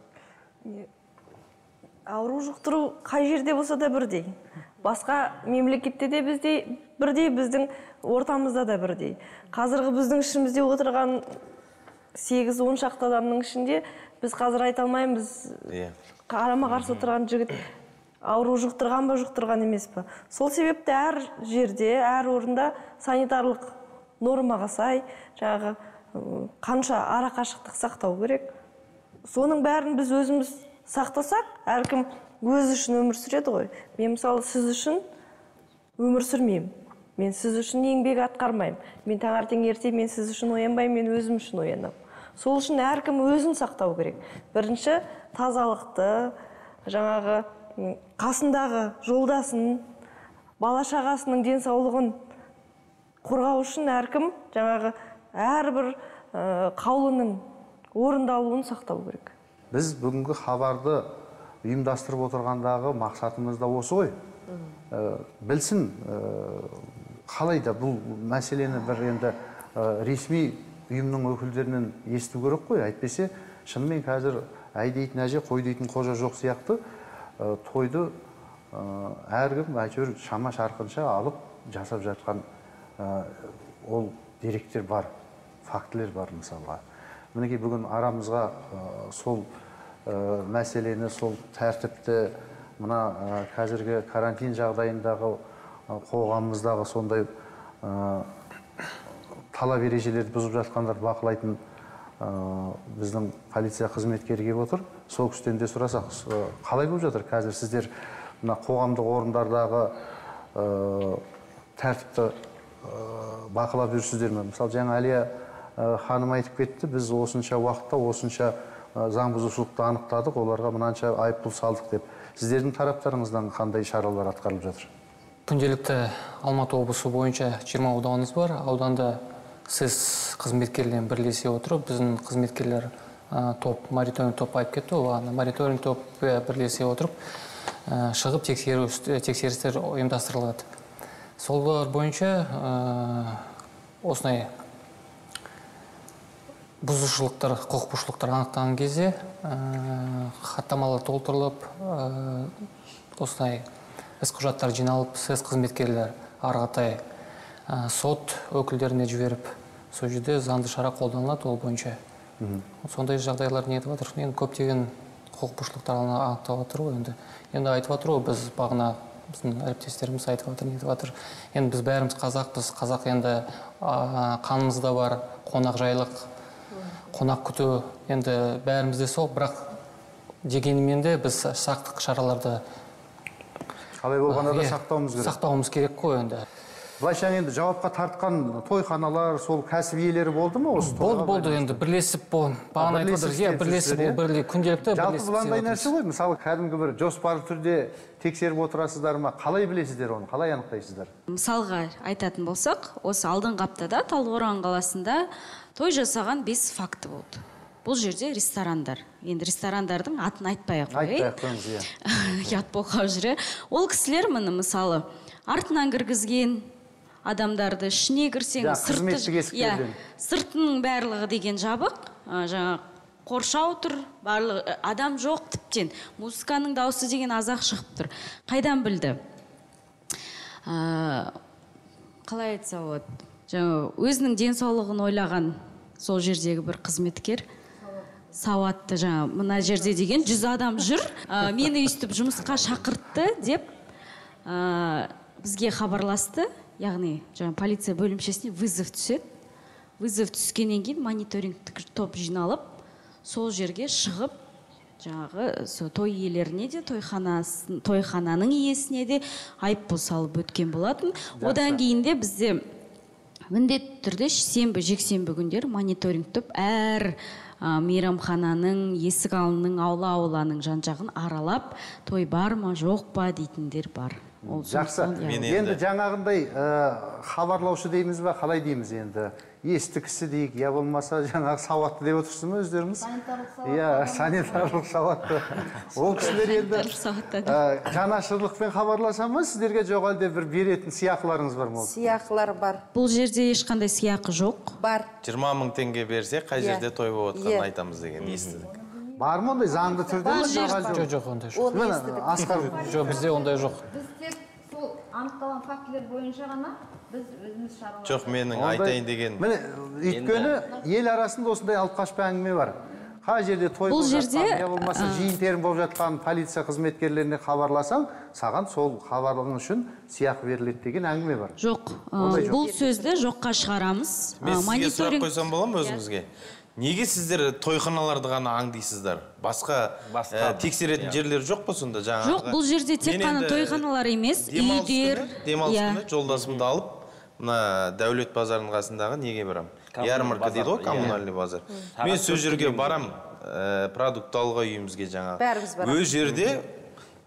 Ауру жұқтыру қай жерде болса да бірдей. Басқа мемлекетте де біздей, бірдей, біздің ортамызда да бірдей. Қазіргі біздің ішімізде отырған сегіз он шақты адамның ішінде біз қазір айта алмаймыз, қарама қарсы отырған жігіт ауру жұқтырған ба, жұқтырған емес па. Сол себепті әр жерде, әр орында санитарлық нормаға сай, жаңағы қанша ара қашықтық сақтау керек. Соның бәрін біз өзіміз сақтасақ, әркім өз үшін өмір сүреді ғой. Мен мысалы сіз үшін өмір сүрмеймін. Мен сіз үшін еңбек атқармаймын. Мен таңертең ерте мен сіз үшін оянбаймын, мен өзім үшін оянамын. Сол үшін әркім өзін сақтау керек. Бірінші тазалықты, жаңағы қасындағы жолдасын, бала-шағасының денсаулығын қорғау үшін әркім жаңағы әрбір қаулының орындалуын сақтау керек. Біз бүгінгі хабарды ұйымдастырып отырғандағы мақсатымыз да осы ғой. Білсін, қалай да бұл мәселені бір енді ресми ұйымның өкілдерінен есту керек қой. Әйтпесе, шынымен қазір әй дейтін әже, қой дейтін қожа жоқ сияқты тойды әркім әйтеуір шама шарқынша алып жасап жатқан ол деректер бар, фактілер бар мысалға. Мінекей бүгін арамызға сол мәселені, сол тәртіпті, мына қазіргі карантин жағдайындағы қоғамымыздағы сондай талап ережелерді бұзып жатқандар бақылайтын біздің полиция қызметкері келіп отыр. Сол кісіден де сұрасақ, қалай болып жатыр қазір сіздер мына қоғамдық орындардағы тәртіпті бақылап жүрсіздер ме? Мысалы, жаңа Әлия ханым айтып кетті, біз осынша уақытта осынша заң бұзушылықты анықтадық, оларға мынанша айыппұл салдық деп. Сіздердің тараптарыңыздан қандай шаралар атқарылып жатыр? Күнделікті Алматы облысы бойынша жиырма ауданымыз бар. Ауданда сіз қызметкерлермен бірлесе отырып, біздің қызметкерлер топ, мониторинг топ айып кетті, ол мониторинг топ бірлесе отырып, шығып тексерістер ұйымдастырылады. Солар бойынша осындай бұзушылықтар, құқық бұзушылықтар анықтаған кезде хаттамалар толтырылып, осындай іс құжаттар жиналып, сіз қызметкерлер арғатай сот өкілдеріне жіберіп, сол жерде заңды шара қолданылады ол бойынша. Сондай жағдайлар не етіп жатыр? Енді көптеген құқық бұзушылықтар анықтап жатыр ғой енді. Енді айтып жатыр ғой, біз бағана біздің әріптестеріміз айтып жатыр, не етіп жатыр. Енді біз бәріміз қазақпыз, қазақ енді қанымызда бар, қонақ жайлық, қонақ күту, енді бәрімізде сол, бірақ дегенмен де біз сақтық шараларды қалай болғанда да сақтауымыз керек. Сақтауымыз керек қой енді. Былайша енді жауапқа тартқан тойханалар, сол кәсіп иелері болды ма осы тойға? Болды, болды енді бірлесіп бол. Бағана айтып отыр, бірлесіп бол, бірлесіп күнделікті бірлесіп. Жалпы бұландай нәрсе ғой, мысалы кәдімгі бір жоспарлы түрде тексеріп отырасыздар ма? Қалай білесіздер оны? Қалай анықтайсыздар? Мысалға айтатын болсақ, осы алдыңғы аптада Талдықорған қаласында той жасаған бес факті болды. Бұл жерде ресторандар. Енді ресторандардың атын айтпай-ақ қояйық. Айтпай-ақ қойыңыз, иә. Ұят болғалы жүре. Ол кісілер міне мысалы артынан кіргізген адамдарды, ішіне кірсең, сыртының барлығы деген жабық, жаңа қоршау тұр, барлығы адам жоқ тіптен. Музыканың дауысы деген азақ шығып тұр. Қайдан білді? Қалай айтса болады? Жаңа өзінің денсаулығын ойлаған сол жердегі бір қызметкер, сауатты, жаңа мына жерде деген жүз адам жүр, мені өйстіп жұмысқа шақыртты деп бізге хабарласты. Яғни, жаңа полиция бөлімшесіне вызов түседі. Вызов түскеннен кейін мониторингтік топ жиналып, сол жерге шығып, жаңағы той иелеріне де, тойхананың иесіне де айыппұл салып өткен болатын. Одан кейін де бізде міндетті түрде сенбі, жексенбі күндер мониторинг топ әр мейрамхананың, есік алдының, аула-ауланың жан-жағын аралап, той бар ма, жоқ па дейтіндер бар. Жақсы. Енді жаңағындай хабарлаушы дейміз бе, қалай дейміз енді? Есті кісі дейік, я болмаса жаңағы сауатты деп отырсыз ма өздеріңіз? Санитарлық сауатты. Иә, санитарлық сауатты. Ол кісілер енді жанашырлықпен хабарласа ма, сіздерге жоқ әлде бір беретін сыйақыларыңыз бар ма? Сыйақылар бар. Бұл жерде ешқандай сыйақы жоқ. Бар. жиырма мың теңге берсе, қай жерде той болып отқанын айтамыз деген естідік. Бар ма ондай заңды түрде? Жоқ, жоқ, ондай жоқ. Жоқ, бізде ондай жоқ. Біз тек сол анықталған фактілер бойынша ғана біз өзіміз шаралар. Жоқ, менің айтайын деген. Міне, өйткені ел арасында осындай алып қашпа әңгіме бар. Қай жерде той болып жатқан, я болмаса жиын терім болып жатқан полиция қызметкерлеріне хабарласаң, саған сол хабарлығың үшін сыйақы беріледі деген әңгіме бар. Жоқ, бұл сөзді жоққа шығарамыз. Мен сізге сұрақ қойсам бола ма өзіңізге? Неге сіздер тойханаларды ғана аңдайсыздар? Басқа тексеретін жерлер жоқ па сонда? Жоқ, бұл жерде тек қана тойханалар емес, үйдер. Демалыс күні жолдасымды алып, мына Дәулет базарының қасындағы неге барам? Ярмарка дейді ғой, коммунальный базар. Мен сол жерге барам, продукт алуға үйімізге жаңағы. Өз жерде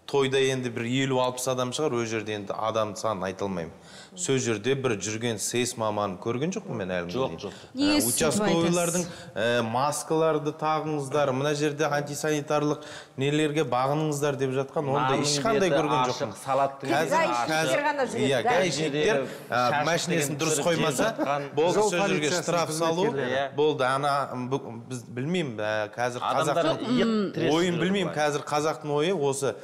тойда енді бір елу алпыс адам шығар, өз жерде енді адам санын айтылмаймын. Сол жерде бір жүрген сейс маманын көрген жоқпын мен әлі. Жоқ, жоқ. Участковыйлардың маскаларды тағыңыздар, мына жерде антисанитарлық нелерге бағыныңыздар деп жатқан, онда ешқандай көрген жоқпын. Иә, гаишниктер машинесін дұрыс қоймаса, болды сол жерге штраф салу, болды ана, біз білмеймін, қазір қазақтың ойын білмеймін, қазір қазақтың ойы осы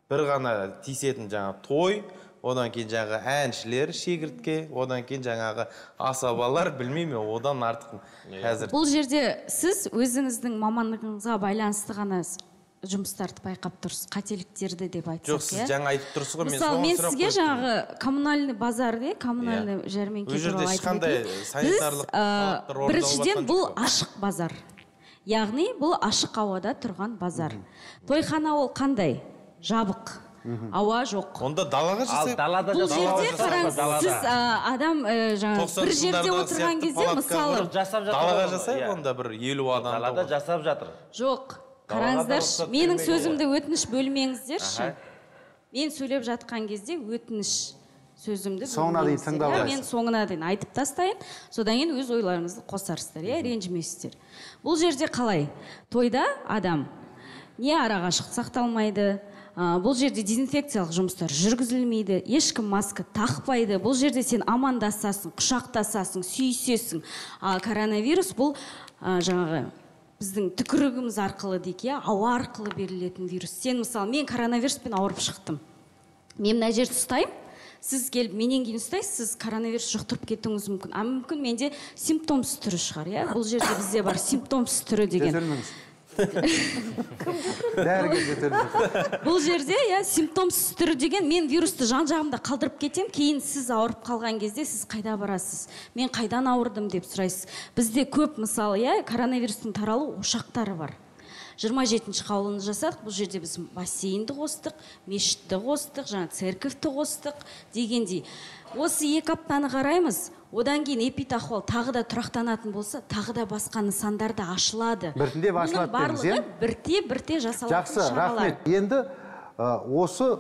бір ғана тиісетін жаңа той, одан кейін жаңағы әншілер шегіртке, одан кейін жаңағы асабалар, білмеймін, одан артық қазір. Бұл жерде сіз өзіңіздің мамандығыңызға байланысты ғана жұмыстарды байқап тұрсыз, қателіктерді деп айтсақ. Жоқ, сіз жаңа айтып тұрсыз ғой, мен мысалы, мен сізге жаңағы коммунальный базар, коммунальный жәрмеңке туралы айтып өтейін. Біз біріншіден бұл ашық базар. Яғни бұл ашық ауада тұрған базар. Тойхана ол қандай? Жабық. Ауа жоқ. Онда далаға жасайық. Бұл жерде қараңыз, сіз адам бір жерде отырған кезде, мысалы, далаға жасайық, онда бір елу адам. Далада жасап жатыр. Жоқ, қараңыздаршы, менің сөзімді өтініш бөлмеңіздерші. Мен сөйлеп жатқан кезде өтініш сөзімді бөлмеңіздер. Мен соңына дейін айтып тастайын, содан кейін өз ойларыңызды қосарсыздар, ренжімейсіздер. Бұл жерде қалай? Тойда адам не арақашықтық сақталмайды, бұл жерде дезинфекциялық жұмыстар жүргізілмейді, ешкім маска тақпайды. Бұл жерде сен амандасасың, құшақтасасың, сүйісесің. Ал коронавирус бұл жаңағы біздің түкірігіміз арқылы дейік, ауа арқылы берілетін вирус. Сен мысалы, мен коронавируспен ауырып шықтым. Мен мына жерді ұстаймын, сіз келіп менен кейін ұстайсыз, сіз коронавирус жұқтырып кетуіңіз мүмкін. А мүмкін менде симптомсыз түрі шығар, иә? Бұл жерде бізде бар симптомсыз түрі деген. Бұл жерде симптомсыз түрі деген, мен вирусты жан жағымда қалдырып кетем, кейін сіз ауырып қалған кезде сіз қайда барасыз, мен қайдан ауырдым деп сұрайсыз. Бізде көп мысалы коронавирустың таралу ошақтары бар. жиырма жетінші қаулыны жасадық, бұл жерде біз бассейнді қостық, мешітті қостық, жаңа церковьті қостық дегендей. Осы екі аптаны қараймыз, одан кейін эпидахуал тағы да тұрақтанатын болса, тағы да басқа нысандар да ашылады. Біртіндеп ашылады деңіз, е? Бірте-бірте жасалатын шаралар. Жақсы, рахмет. Енді осы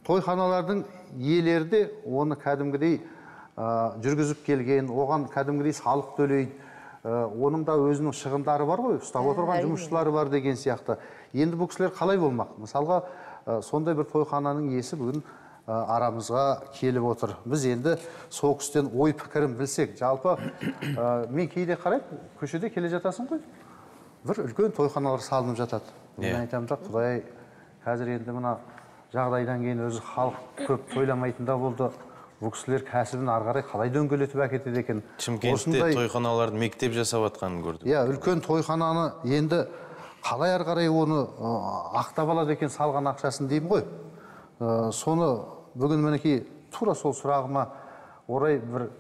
тойханалардың иелері де оны кәдімгідей жүргізіп келген, оған кәдімгідей салық төлейді. Оның да өзінің шығындары бар ғой, ұстап отырған жұмысшылары бар деген сияқты. Енді бұл кісілер қалай болмақ? Мысалға, сондай бір тойхананың иесі бүгін арамызға келіп отыр. Біз енді сол кісіден ой пікірін білсек, жалпы мен кейде қараймын, көшеде келе жатасың ғой, бір үлкен тойханалар салынып жатады. Мен айтамын да, Құдай, қазір енді мына жағдайдан кейін өзі халық көп тойламайтында болды. Бұл кісілер кәсібін арғарай қалай дөңгелетіп әкетеді екен. Шымкентте тойханаларды мектеп жасап жатқанын көрдім. Иә, үлкен тойхананы енді қалай арғарай оны ақтап алады екен салған ақшасын деймін ғой. Соны бүгін мінекей тура сол сұрағыма орай бір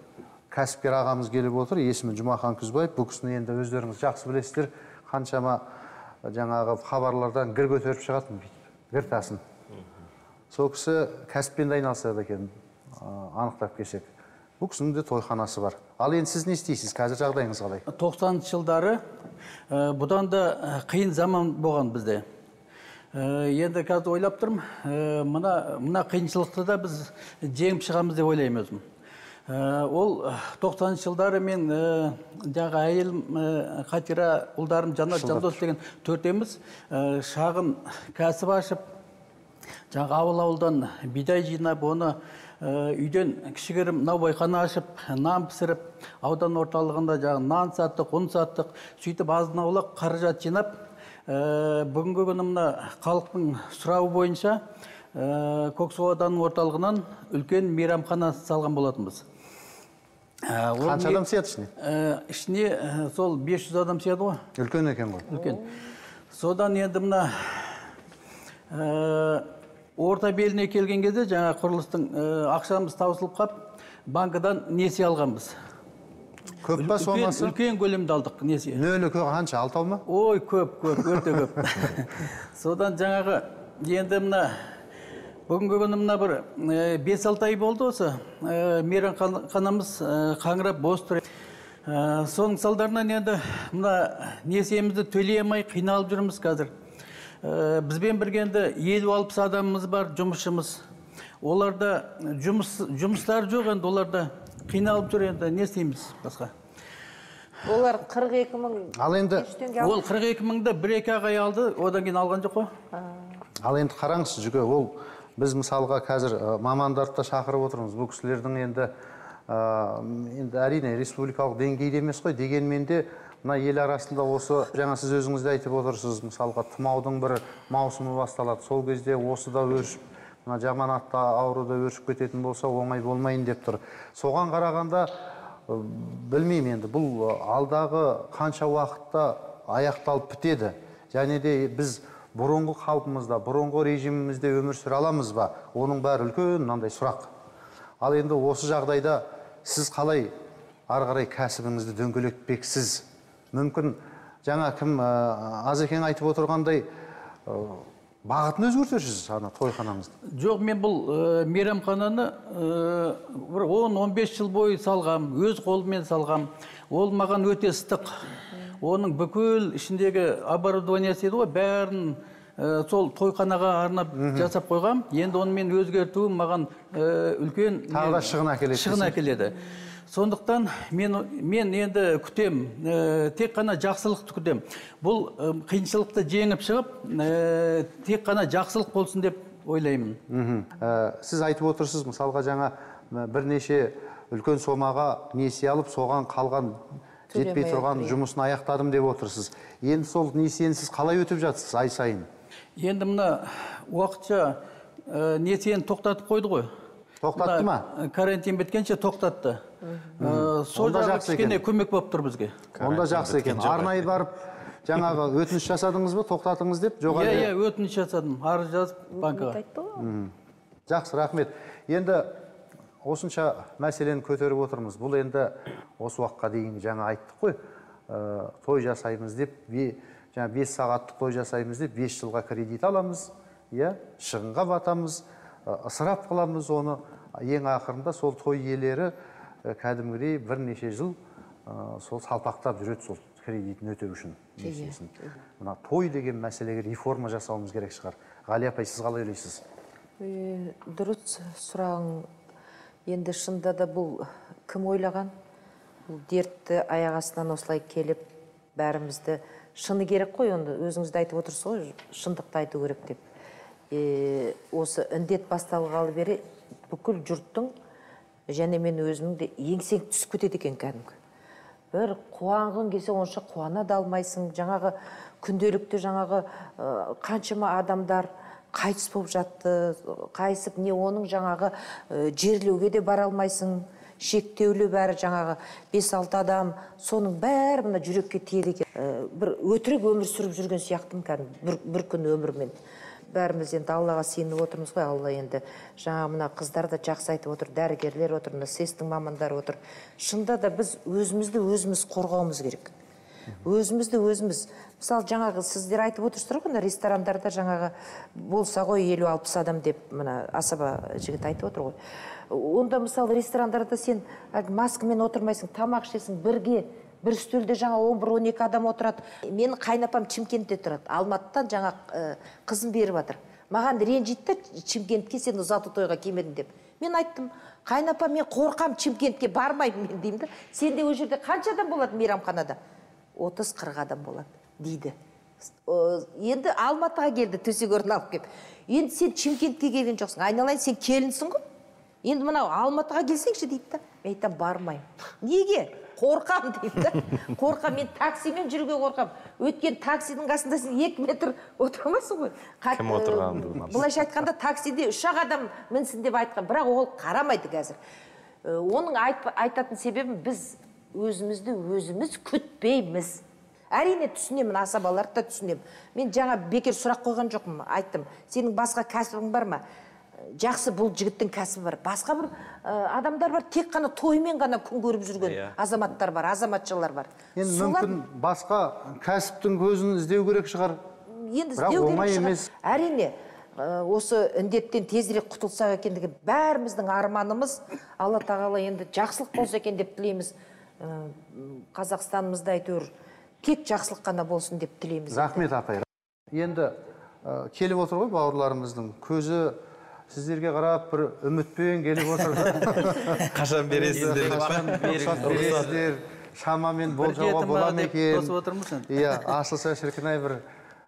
кәсіпкер ағамыз келіп отыр. Есімі Жұмахан Күзбаев. Бұл кісіні енді өздеріңіз жақсы білесіздер. Қаншама жаңағы хабарлардан гір көтеріп шығатын, гір тасын. Сол кісі кәсіппен айналысады екен. Анықтап кешек. Бұл кісінің де тойханасы бар. Ал енді сіз не істейсіз? Қазір жағдайыңыз қалай? тоқсаныншы жылдары бұдан да қиын заман болған бізде. Енді қазір ойлап тұрмын, мына қиыншылықты да біз жеңіп шығамыз деп ойлаймын өзім. Ол тоқсаныншы жылдары мен жаңағы әйелім Қатира, ұлдарым Жанат, Жандос деген төртеміз шағын кәсіп ашып, жаңағы ауыл-ауылдан бидай жинап, оны үйден кішігірім наубайхана ашып, нан пісіріп, аудан орталығында жаңағы нан саттық, ұн саттық, сөйтіп азын-аулақ қаражат жинап, бүгінгі күні мына халықтың сұрауы бойынша Көксу ауданының орталығынан үлкен мейрамхана салған болатынбыз. Қанша адам сияды ішіне? Ішіне сол бес жүз адам сияды ғой. Үлкен екен ғой. Үлкен. Содан енді мына орта беліне келген кезде жаңа құрылыстың ақшамыз таусылып қап, банкадан несие алғанбыз. Көп па сомасы? Үлкен көлемді алдық несие. Нөлі қанша, алтау ма? Ой, көп, көп, өте көп. Содан жаңағы енді мына бүгінгі күні мына бір бес алты ай болды осы мейрамханамыз қаңырап бос тұр. Соның салдарынан енді мына несиемізді төлей алмай қиналып жүрміз қазір. Бізбен біргенде елу алпыс адамымыз бар, жұмысшымыз. Оларда жұмыстар жоқ енді, оларда қиналып жүр енді, не істейміз басқа? Олар қырық екі мың. Ал енді ол қырық екі мыңды бір-екі ай алды, одан кейін алған жоқ қой. Ал енді қараңыз жүге, ол біз мысалға қазір мамандарды да шақырып отырмыз. Бұл кісілердің енді енді әрине республикалық деңгейде емес қой, дегенмен де мына ел арасында осы, жаңа сіз өзіңізде айтып отырсыз, мысалға тұмаудың бір маусымы басталады. Сол кезде осы да өршіп, мына жаман атты ауруда өршіп кететін болса оңай болмайын деп тұр. Соған қарағанда білмеймін енді, бұл алдағы қанша уақытта аяқталып бітеді. Және де біз бұрынғы қалпымызда, бұрынғы режимімізде өмір сүре аламыз ба? Оның бәрі үлкен мынандай сұрақ. Ал енді осы жағдайда сіз қалай ары қарай кәсібіңізді дөңгелетпексіз? Мүмкін жаңа кім Азекең айтып отырғандай бағытын өзгертесіз ана тойханаңызды? Жоқ, мен бұл мейрамхананы бір он он бес жыл бойы салғам, өз қолыммен салғам. Ол маған өте ыстық. Оның бүкіл ішіндегі оборудованиясы еді ғой, бәрін сол тойханаға арнап жасап қойғам. Енді оны мен өзгертуім маған үлкен тағы да шығын әкеледі. Шығын әкеледі. Сондықтан мен, мен енді күтем, тек қана жақсылықты күтем. Бұл қиыншылықты жеңіп шығып, тек қана жақсылық болсын деп ойлаймын. Сіз айтып отырсыз, мысалға жаңа бірнеше үлкен сомаға несие алып, соған қалған жетпей тұрған жұмысын аяқтадым деп отырсыз. Енді сол несиені сіз қалай өтіп жатсыз ай сайын? Енді мына уақытша несиені тоқтатып қойды ғой. Тоқтатты ма? Карантин біткенше тоқтатты. Сол жағы кішкене көмек болып тұр бізге. Онда жақсы екен. Арнайы барып, жаңағы өтініш жасадыңыз ба, тоқтатыңыз деп? Иә, иә, өтініш жасадым. Арыз жазып банкаға. Жақсы, рахмет. Енді осынша мәселені көтеріп отырмыз. Бұл енді осы уақытқа дейін жаңа айттық қой. Той жасаймыз деп, жаңа бес сағаттық той жасаймыз деп, бес жылға кредит аламыз. Шығынға батамыз, ысырап қыламыз оны. Ең ақырында сол той иелері кәдімгідей бірнеше жыл сол салпақтап жүреді сол кредитін өтеу үшін. Мына той деген мәселеге реформа жасауымыз керек шығар. Ғали апай, сіз қалай ойлайсыз? Дұрыс сұрағың. Енді шында да бұл кім ойлаған? Бұл дертті аяқ астынан осылай келіп, бәрімізді шыны керек қой, онда өзіңізді айтып отырсыз ғой, шындықты айту керек деп. Осы індет басталғалы бері бүкіл жұрттың, және мен өзімді еңсең түсіп кетеді екен кәдімгі. Бір қуанғың келсе онша қуана да алмайсың. Жаңағы күнделікті жаңағы қаншама адамдар қайтыс болып жатты, қайсып не оның жаңағы жерлеуге де бара алмайсың, шектеулі бәрі жаңағы бес алты адам, соның бәрі мына жүрекке тиеді екен. Бір өтірік өмір сүріп жүрген сияқтым кәдімгі, бір күн өмірмен. Бәріміз енді Аллаға сеніп отырмыз ғой, Алла енді жаңа мына қыздар да жақсы айтып отыр, дәрігерлер отыр, сэс-тің мамандары отыр. Шында да біз өзімізді өзіміз қорғауымыз керек. Өзімізді өзіміз. Мысалы жаңағы сіздер айтып отырсыздар ғой, ресторандарда жаңағы болса ғой елу алпыс адам деп мына Асаба жігіт айтып отыр ғой. Онда мысалы ресторандарда сен маскамен отырмайсың, тамақ ішесің бірге. Бір үстелде жаңа он бір он екі адам отырады. Мен қайнапам Шымкентте тұрады. Алматыдан жаңа қызым беріп жатыр. Маған ренжитті, Шымкентке сен ұзату тойға келмедің деп. Мен айттым, қайнапам, мен қорқам, Шымкентке бармаймын мен деймін да. Сенде ол жерде қанша адам болады мейрамханада? отыз қырық адам болады дейді. Енді Алматыға келді, төсек орын алып кеп. Енді сен Шымкентке келген жоқсың. Айналайын, сен келінсің ғой. Енді мынау Алматыға келсеңші дейді да. Мен айтам, бармаймын. Неге? Қорқам дейді да. Қорқам, мен таксимен жүруге қорқам. Өткен таксидің қасында сен екі метр отырмайсың ғой. Кім отырғанды? Бұлайша айтқанда таксиде үш ақ адам мінсін деп айтқан, бірақ ол қарамайды қазір. Оның айтатын себебін біз өзімізді өзіміз күтпейміз. Әрине түсінемін, асабаларды да түсінемін. Мен жаңа бекер сұрақ қойған жоқпын, айттым. Сенің басқа кәсібің бар ма? Жақсы, бұл жігіттің кәсібі бар. Басқа бір адамдар бар, тек қана тоймен ғана күн көріп жүрген азаматтар бар, азаматшалар бар. Енді мүмкін басқа кәсіптің көзін іздеу керек шығар. Бірақ оңай емес. Әрине, осы індеттен тезірек құтылсақ екендігі бәріміздің арманымыз. Алла тағала енді жақсылық болса екен деп тілейміз. Қазақстанымызда әйтеуір тек жақсылық қана болсын деп тілейміз. Рахмет апай. Енді келіп отыр ғой бауырларымыздың көзі сіздерге қарап бір үмітпен келіп отырды. Қашан бересіздер? Қашан бересіздер? Шамамен болжауға бола ма екен? Иә, асылса шіркінай бір.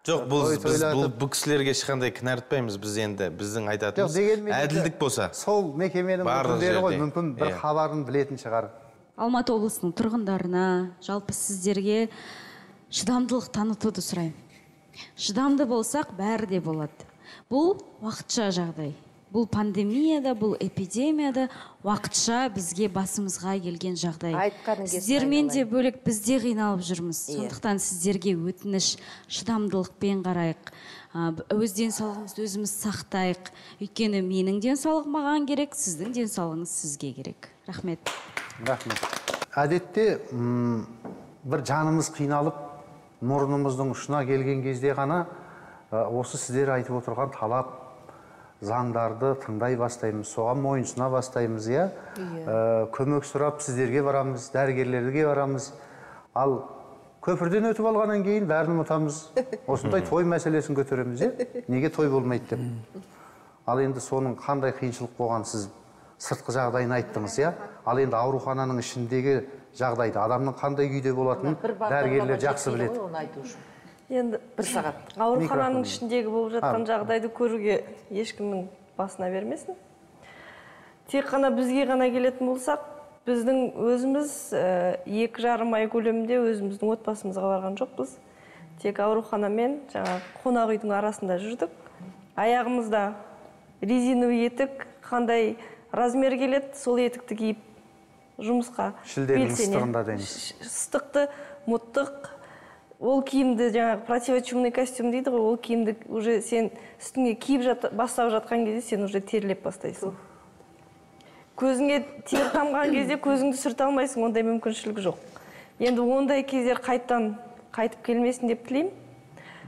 Жоқ, біз бұл кісілерге ешқандай кінәртпаймыз. Біз енді біздің айтатымыз әділдік болса. Сол мекеменің өкілдері ғой, мүмкін бір хабарын білетін шығар. Алматы облысының тұрғындарына, жалпы сіздерге шыдамдылық танытуды сұраймын. Шыдамды болсақ, бәрі де болады. Бұл уақытша жағдай. бұл пандемияда, бұл эпидемияда уақытша бізге басымызға келген жағдай. Сіздермен де бөлек бізде қиналып жүрміз. Сондықтан сіздерге өтініш, шыдамдылықпен қарайық. Өз денсаулығымызды өзіміз сақтайық. Өйткені менің денсаулығым маған керек, сіздің денсаулығыңыз сізге керек. Рахмет. Рахмет. Әдетте бір жанымыз қиналып, мұрнымыздың ұшына келген кезде ғана осы сіздер айтып отырған талап, заңдарды тыңдай бастаймыз, соған мойынсына бастаймыз, иә? Көмек сұрап сіздерге барамыз, дәрігерлерге барамыз. Ал көпірден өтіп алғаннан кейін бәрін ұмытамыз. Осындай той мәселесін көтереміз, е? Неге той болмайды деп. Ал енді соның қандай қиыншылық болған сіз сыртқы жағдайын айттыңыз, иә? Ал енді аурухананың ішіндегі жағдайды, адамның қандай күйде болатынын дәрігерлер жақсы біледі. Енді бір сағат. Аурухананың ішіндегі болып жатқан жағдайды көруге ешкімнің басына бермесін. Тек қана бізге ғана келетін болсақ, біздің өзіміз екі жарым ай көлемінде өзіміздің отбасымызға барған жоқпыз. Тек ауруханамен жаңа қонақ үйдің арасында жүрдік. Аяғымызда резиновый етік, қандай размер келеді, сол етікті киіп жұмысқа шілденің ыстығында дейміз. Ыстықты, мұттық, ол киімді жаңағы противочумный костюм дейді ғой, ол киімді уже сен үстіңе киіп бастап жатқан кезде сен уже терлеп бастайсың. Көзіңе тер тамған кезде көзіңді сүрте алмайсың, ондай мүмкіншілік жоқ. Енді ондай кездер қайттан қайтып келмесін деп тілеймін.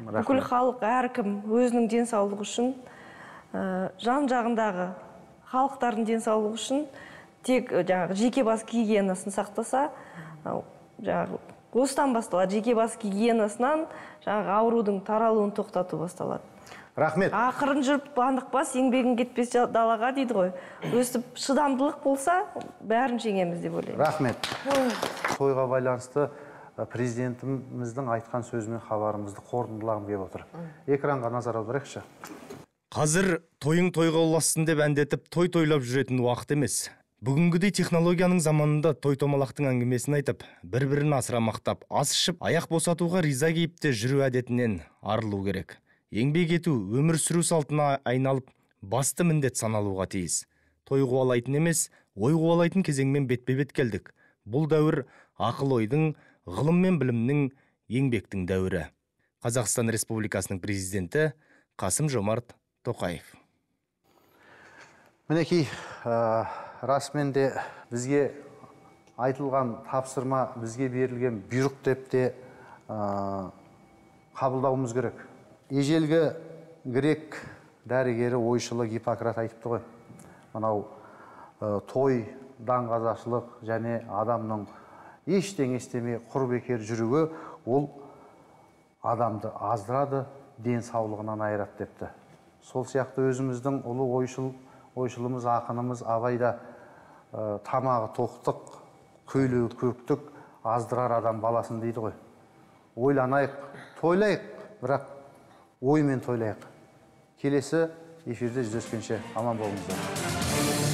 Бүкіл халық әркім өзінің денсаулығы үшін, жан жағындағы халықтардың денсаулығы үшін тек жаңағы жеке бас гигиенасын сақтаса, жаңағы осыдан басталады. Жеке бас гигиенасынан жаңағы аурудың таралуын тоқтату басталады. Рахмет. Ақырын жүріп бандықпас, еңбегің кетпес далаға дейді ғой. Өстіп шыдамдылық болса, бәрін жеңеміз деп ойлаймын. Рахмет. Тойға байланысты президентіміздің айтқан сөзімен хабарымызды қорытындылағым келіп отыр. Экранға назар аударайықшы. Қазір тойың тойға ұлассын деп әндетіп, той тойлап жүретін уақыт емес. Бүгінгідей технологияның заманында той-томалақтың әңгімесін айтып, бір-бірін асыра мақтап, ас ішіп, аяқ босатуға риза кейіпте жүру әдетінен арылу керек. Еңбек ету, өмір сүру салтына айналып, басты міндет саналуға тиіс. Той қуалайтын емес, ой қуалайтын кезеңмен бетпе-бет келдік. Бұл дәуір ақыл ойдың, ғылым мен білімнің, еңбектің дәуірі. Қазақстан Республикасының президенті Қасым-Жомарт Тоқаев. Мінекей, расымен де бізге айтылған тапсырма, бізге берілген бұйрық деп те қабылдауымыз керек. Ежелгі грек дәрігері ойшылы Гиппократ айтыпты ғой. Мынау той, даңғазашылық және адамның ештеңе істемей құр бекер жүруі ол адамды аздырады, денсаулығынан айырады депті. Сол сияқты өзіміздің ұлы ойшыл ойшылымыз, ақынымыз Абайда тамағы тоқтық, көйлегі көктік, аздырар адам баласын дейді ғой. Ойланайық, тойлайық, бірақ оймен тойлайық. Келесі эфирде жүздескенше аман болыңыздар.